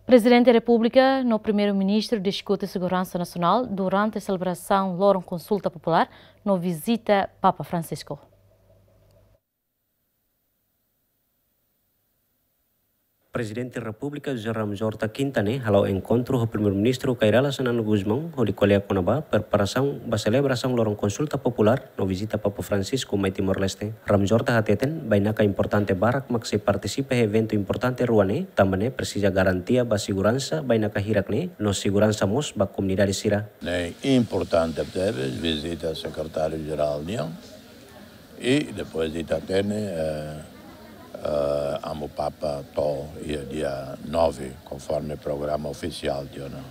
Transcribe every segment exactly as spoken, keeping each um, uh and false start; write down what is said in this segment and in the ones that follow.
Prezidente Repúblika no Primeiru-Ministru diskute seguransa nasionál durante selebrasaun Loron Konsulta Populár no vizita Papa Francisco. Prezidente Repúblika José Ramos Horta kinta ne'e hala'o enkontru ho Primeiru-Ministru Kay Rala Xanana Gusmão hodi ko'alia kona-ba preparasaun ba selebrasaun Loron Konsulta Populár no vizita Papa Francisco mai Timor-Leste. Ramos Horta hateten, bainaka importante barak mak sei partisipa iha eventu importante rua ne'e, tanba ne'e presiza garantia ba seguransa bainaka hirak ne'e, no seguransa mós ba komunidade sira. Ne'e importante tebes, vizita Sekretáriu-Jerál nian, i depois ita hatene, eh, eh, Amu Papa to'o iha dia nove, konforme programa ofisiál tiha ona.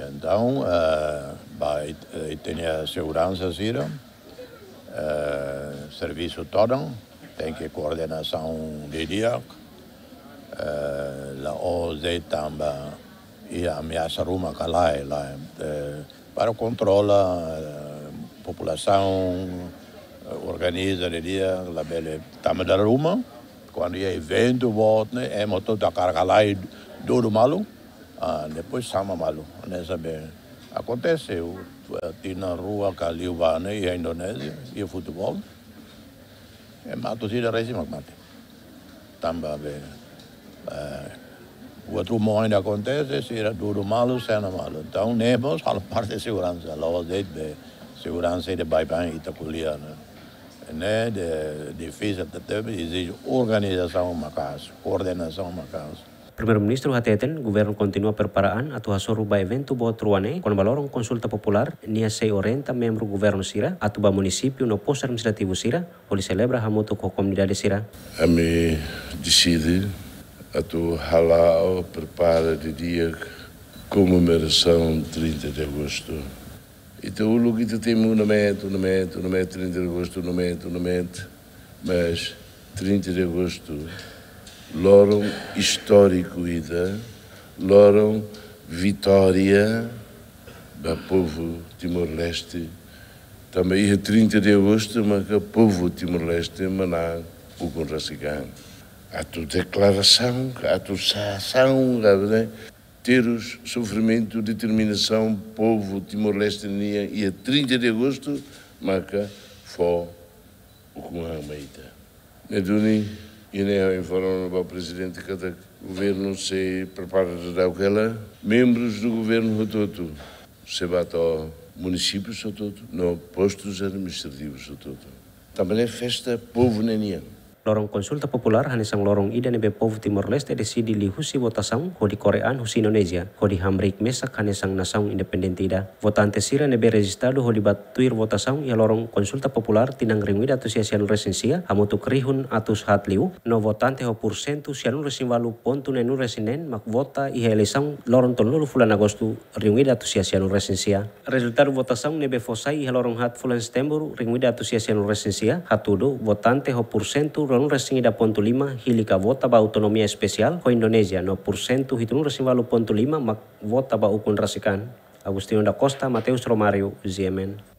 Entaun, eh, ba it-, eh, ita-nia seguransa sira, eh, servisu todan, tenke koordenasaun didi'ak, eh, la'ós de'it tanba iha ameasa ruma ka lae, lae, eh, para kontrola, eh, populasaun, eh, organiza didi'ak, labele tanba dala ruma, kuandu iha eventu boot ne'e, ema hotu hakarak halai dudu malu, ah, depois sama malu. Hanesan be akontese, o, tinan rua ka liubá ne'e iha Indonézia, iha futeból. Ema atu sira resi mak mate. Tanba be, eh, buat ruma ohin akontese, sira dudu malu, sena malu. Entaun, ne'e mós halo parte seguransa, la'ós de'it be seguransa ida baibain ita ko'alia, ne'e. Ne'e de, difisil tebes, ezije organizasaun maka'as, koordenasaun maka'as. Primeiru-Ministru hateten, governu kontinua prepara an atu hasoru ba eventu boot rua ne'e, kona-ba Loron Konsulta Populár, nia sei orienta membru governu sira atu ba munisípiu no postu administrativu sira, hodi selebra hamutuk ho komunidade sira. Ami deside atu hala'o prepara didi'ak komemorasaun trinta de agostu. Ita uluk ita temi una meta, una meta, una meta, trinta de agostu, una meta, una meta. Mas trinta de agostu, loron istóriku ida, loron vitória ba povu Timor-Leste. Tanba iha trinta de agostu maka povu Timor-Leste manán ukun rasik an. Atu deklarasaun, atu sasán, ka, ne'e, terus sofrimentu, determinasaun povu Timor-Leste nian iha trinta de agostu, maka fó ukun an mai ita. Ne'e duni, ida-ne'e ha'u informa ba Prezidente katak governu sei prepara daudaun hela, membrus do governu hotu-hotu sei bá to'o munisípius hotu-hotu, no postus administrativus hotu-hotu. Tanba ne'e festa povu ne'e nian. Loron Konsulta Populár hanesan loron ida ne'ebé povu Timor-Leste deside liuhusi votasaun hodi kore an husi Indonézia, hodi hamriik mesak hanesan nasaun independente ida. Votante sira ne'ebé rejistadu hodi bá tuir votasaun iha Loron Konsulta Populár tinan rihun ida atus sia sianulu resin sia, hamutuk rihun atus haat liu, no votante ho pursentu sianulu resin ualu pontu neenulu resin neen mak vota iha eleisaun loron tolunulu fulan Agostu rihun ida atus sia sianulu resin sia. Rezultadu votasaun ne'ebé fó sai iha loron haat fulan Setembru rihun ida atus sia sianulu resin sia, hatudu votante ho pursentu ruanulu resin ida pontu lima hili ka vota ba autonomia espesiál ho Indonézia, no pursentu hitunulu resin ualu pontu lima mak vota ba ukun rasik an. Agostinho da Costa, Mateus Romário, G M N.